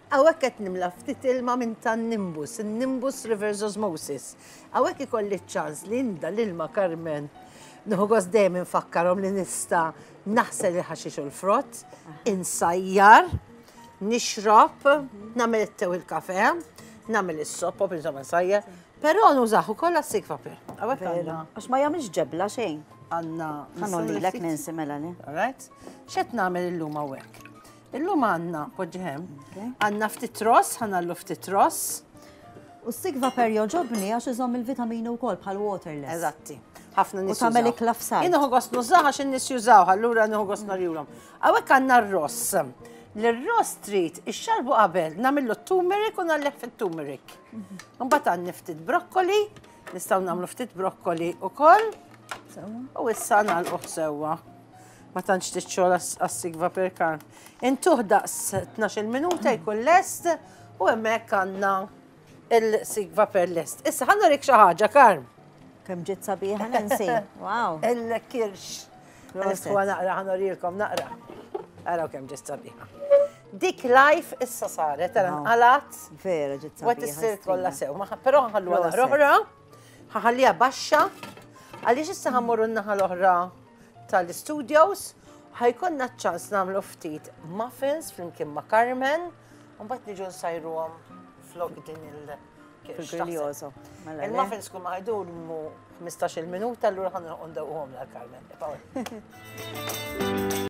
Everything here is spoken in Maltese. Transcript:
Hawnhekk qed nimla ftit ilma minn tan-Nimbus, in-Nimbus Reverse Osmosis. Hawnhekk ikolli ċ-ċans li nda l-ilma Carmen. Nieħu gost dejjem infakkarhom li nista' naħsel il-ħaxix u l-frott, insajjar, nixrob, nagħmel it-te u l-kafe, nagħmel is-soppa, insomma nsajjar, però nużah ukoll għas-sikvapir. Hawnhekk għandna. Għax ma jagħmilx ġebla xejn. Għandna. Ħanolilek Nancy mela le. All right. X'qed nagħmel illum hawnhekk? Illum għandna, poġġi hemm, għandna ftit ross, ħanallu ftit ross. U s-sigva per joġobni għax iżomm il-vitamini wkoll bħal waterless. Eżatti. Ħafna nies. U tagħmel ikla f'salt. Jien nieħu gost nużaha għax in-nies jużawha, allura nieħu gost narjulhom. Hawnhekk għandna r-ross. L-ross trid ixxarbu qabel, nagħmillu t-turmeric u nagħleh fit-turmeric. Mhm. Mbagħad għandni ftit brokkoli, nistgħu nagħmlu ftit brokkoli ukoll. U issa nagħlquh sewwa. Ma tantx tixxol għas-sigva per karn. Intuh daqs 12 minuta jkun lest u hemmhekk għandna il-sigva per lest. Issa ħa nurik xi ħaġa, Karm. Kemm ġiet sabiħa Nancy. Wow. Il-kirx. Niftħuha naqra, ħa nurilkom naqra. Araw kemm ġiet sabiħa. Dik life issa saret, ara nqalat. Vera ġiet sabiħa. Wet issir kollha sew, però ħalluha naqra oħra. Ħalliha baxxa, għaliex issa ħammorru n-naħa l-oħra tal-studios, ħajkonna ċans nagħmlu ftit muffins flimkien ma' Carmen, u mbagħad niġu nsajruhom flok din il- Fil-griljoso. Mela Il-muffins kull ma ħajdumu 15-il minuta, allura ħan ndewquhom l Carmen.